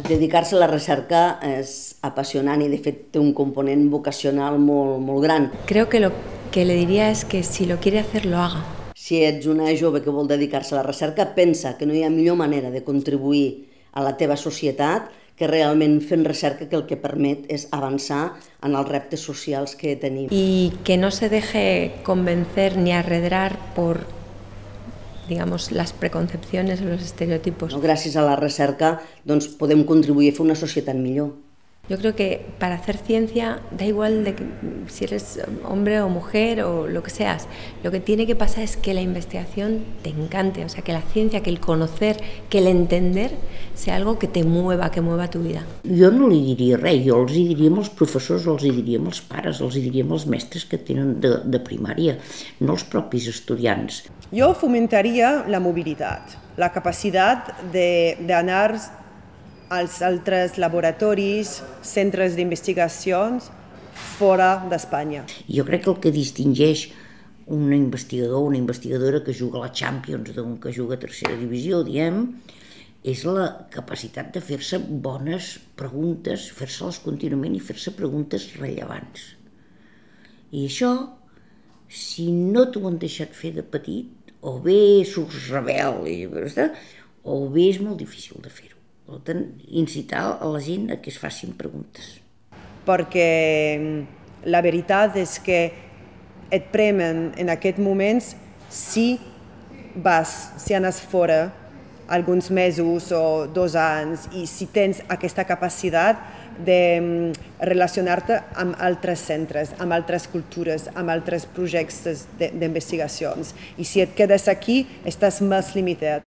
Dedicar-se a la recerca és apassionant i de fet té un component vocacional molt gran. Creo que lo que le diría es que si lo quiere hacer, lo haga. Si ets una jove que vol dedicar-se a la recerca, pensa que no hi ha millor manera de contribuir a la teva societat que realment fent recerca, que el que permet és avançar en els reptes socials que tenim. Y que no se deje convencer ni arredrar por, digamos, las preconcepciones o los estereotipos. Gràcies a la recerca doncs, podem contribuir a fer una societat millor. Yo creo que para hacer ciencia da igual de que, si eres hombre o mujer o lo que seas. Lo que tiene que pasar es que la investigación te encante, o sea, que la ciencia, que el conocer, que el entender sea algo que te mueva, que mueva tu vida. Jo no li diria res, jo els hi diria als professors, els hi diria als pares, els hi diria als mestres que tenen de primària, no els propis estudiants. Jo fomentaria la mobilitat, la capacitat d'anar als altres laboratoris, centres d'investigacions fora d'Espanya. Jo crec que el que distingeix un investigador o una investigadora que juga a la Champions d'un que juga a tercera divisió, diem, és la capacitat de fer-se bones preguntes, fer-se-les contínuament i fer-se preguntes rellevants. I això, si no t'ho han deixat fer de petit, o bé surts rebel, o bé és molt difícil de fer-ho. Per tant, incitar a la gent a que es facin preguntes. Perquè la veritat és que et premen en aquests moments si anes fora alguns mesos o 2 anys i si tens aquesta capacitat de relacionar-te amb altres centres, amb altres cultures, amb altres projectes d'investigacions. I si et quedes aquí, estàs més limitat.